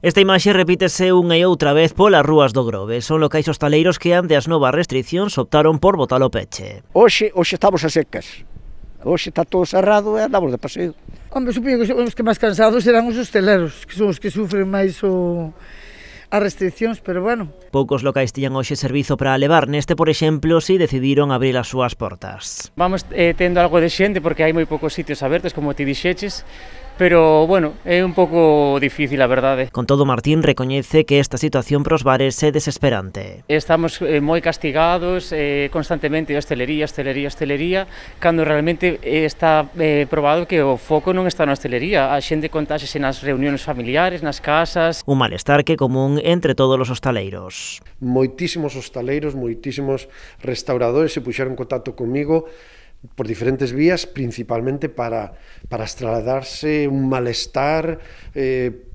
Esta imaxe repítese unha e outra vez polas rúas do Grove. Son locais hostaleiros que ante as novas restriccións optaron por botar o peche. Hoxe estamos a secas. Hoxe está todo cerrado e andamos de paseo. Hombre, supoño que os que máis cansados serán os hosteleros, que son os que sufren máis as restriccións, pero bueno. Poucos locais tiñan hoxe servizo para levar, neste, por exemplo, si decidiron abrir as súas portas. Vamos tendo algo de xente porque hai moi poucos sitios abertos, como ti dixeches, pero, bueno, é un pouco difícil, a verdade. Con todo, Martín recoñece que esta situación pros bares é desesperante. Estamos moi castigados constantemente de hostelería, cando realmente está probado que o foco non está na hostelería. A xente contáxese nas reunións familiares, nas casas. Un malestar que é común entre todos os hostaleiros. Moitísimos hostaleiros, moitísimos restauradores se puxeron en contacto comigo por diferentes vías, principalmente para trasladarse un malestar,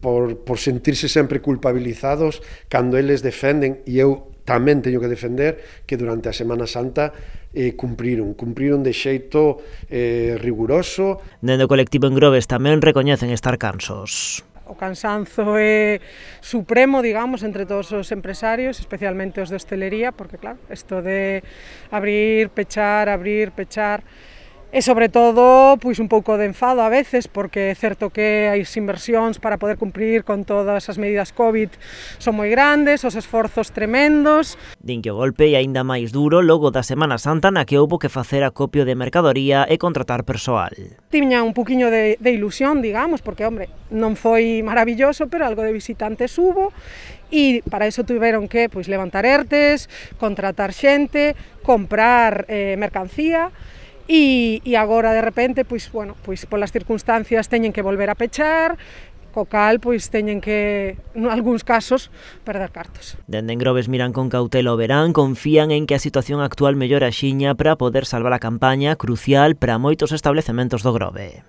por sentirse sempre culpabilizados cando eles defenden, e eu tamén teño que defender, que durante a Semana Santa cumpriron de xeito riguroso. Dende o colectivo en Groves tamén recoñecen estar cansos. O cansanzo é supremo, digamos, entre todos os empresarios, especialmente os de hostelería, porque, claro, isto de abrir, pechar, e, sobre todo, pois un pouco de enfado a veces, porque é certo que as inversións para poder cumprir con todas as medidas COVID son moi grandes, os esforzos tremendos. Din que o golpe é aínda máis duro logo da Semana Santa, na que houbo que facer acopio de mercadoría e contratar persoal. Tiña un poquinho de ilusión, digamos, porque, hombre, non foi maravilloso, pero algo de visitantes hubo, e para iso tiveron que levantar ERTEs, contratar xente, comprar mercancía, e agora de repente, polas circunstancias teñen que volver a pechar, co cal teñen que, en algúns casos, perder cartos. Dende en Groves miran con cautela o verán, confían en que a situación actual mellore axiña para poder salvar a campaña crucial para moitos establecementos do Grove.